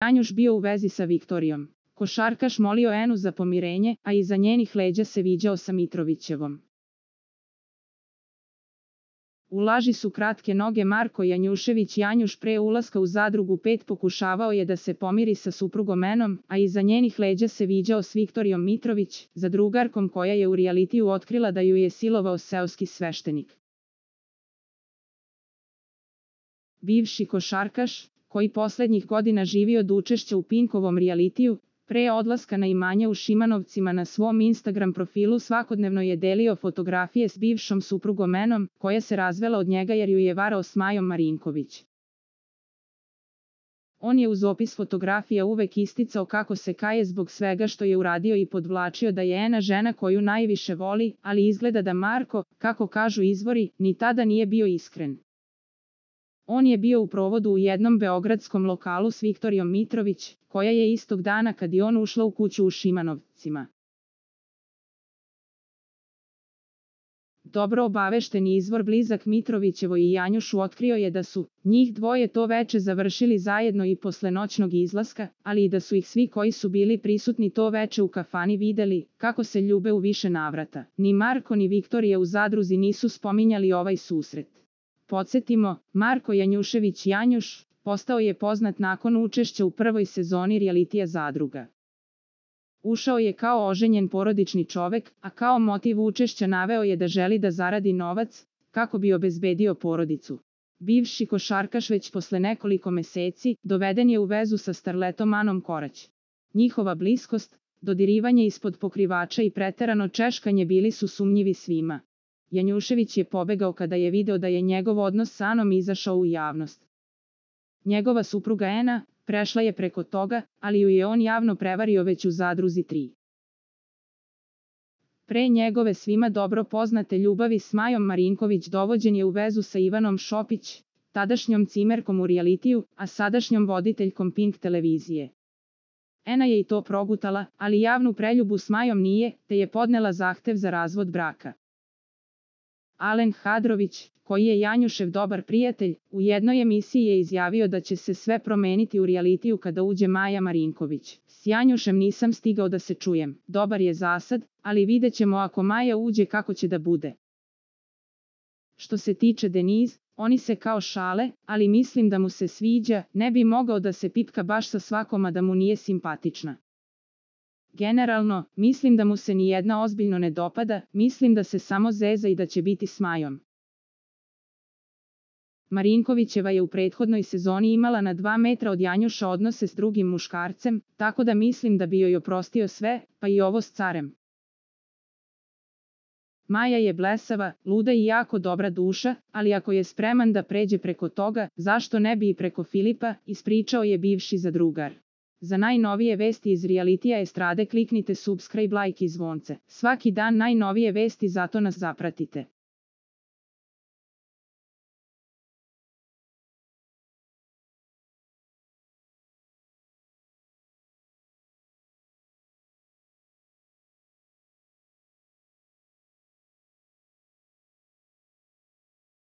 Janjuš bio u vezi sa Viktorijom. Košarkaš molio Enu za pomirenje, a iza njenih leđa se viđao sa Mitrovićevom. U laži su kratke noge. Marko Janjušević. Janjuš pre ulaska u Zadrugu 5 pokušavao je da se pomiri sa suprugom Enom, a iza njenih leđa se viđao s Viktorijom Mitrović, zadrugarkom koja je u realitiju otkrila da ju je silovao seoski sveštenik. Bivši košarkaš, koji poslednjih godina živi od učešća u Pinkovom realitiju, pre odlaska na imanje u Šimanovcima na svom Instagram profilu svakodnevno je delio fotografije s bivšom suprugom Enom, koja se razvela od njega jer ju je varao s Majom Marinković. On je uz opis fotografija uvek isticao kako se kaje zbog svega što je uradio i podvlačio da je Ena žena koju najviše voli, ali izgleda da Marko, kako kažu izvori, ni tada nije bio iskren. On je bio u provodu u jednom beogradskom lokalu s Viktorijom Mitrović, koja je istog dana kad je on ušla u kuću u Šimanovcima. Dobro obavešteni izvor blizak Mitrovićevoj i Janjušu otkrio je da su njih dvoje to veče završili zajedno i posle noćnog izlaska, ali i da su ih svi koji su bili prisutni to veče u kafani videli kako se ljube u više navrata. Ni Marko ni Viktorija u Zadruzi nisu spominjali ovaj susret. Podsjetimo, Marko Janjušević Janjuš postao je poznat nakon učešća u prvoj sezoni realitija Zadruga. Ušao je kao oženjen porodični čovek, a kao motiv učešća naveo je da želi da zaradi novac, kako bi obezbedio porodicu. Bivši košarkaš već posle nekoliko meseci doveden je u vezu sa starletom Anom Korać. Njihova bliskost, dodirivanje ispod pokrivača i preterano češkanje bili su sumnjivi svima. Janjušević je pobegao kada je video da je njegov odnos s Anom izašao u javnost. Njegova supruga Ena prešla je preko toga, ali ju je on javno prevario već u Zadruzi 3. Pre njegove svima dobro poznate ljubavi s Majom Marinković dovođen je u vezu sa Ivanom Šopić, tadašnjom cimerkom u realitiju, a sadašnjom voditeljkom Pink televizije. Ena je i to progutala, ali javnu preljubu s Majom nije, te je podnela zahtev za razvod braka. Alen Hadrović, koji je Janjušev dobar prijatelj, u jednoj emisiji je izjavio da će se sve promeniti u realitiju kada uđe Maja Marinković. S Janjušem nisam stigao da se čujem, dobar je zasad, ali vidjet ćemo ako Maja uđe kako će da bude. Što se tiče Deniz, oni se kao šale, ali mislim da mu se sviđa, ne bi mogao da se pipka baš sa svakom a da mu nije simpatična. Generalno, mislim da mu se ni jedna ozbiljno ne dopada, mislim da se samo zeza i da će biti s Majom. Marinkovićeva je u prethodnoj sezoni imala na 2 metra od Janjuša odnose s drugim muškarcem, tako da mislim da bi joj oprostio sve, pa i ovo s carem. Maja je blesava, luda i jako dobra duša, ali ako je spreman da pređe preko toga, zašto ne bi i preko Filipa, ispričao je bivši zadrugar. Za najnovije vesti iz realitija estrade kliknite subscribe, like i zvonce. Svaki dan najnovije vesti, zato nas zapratite.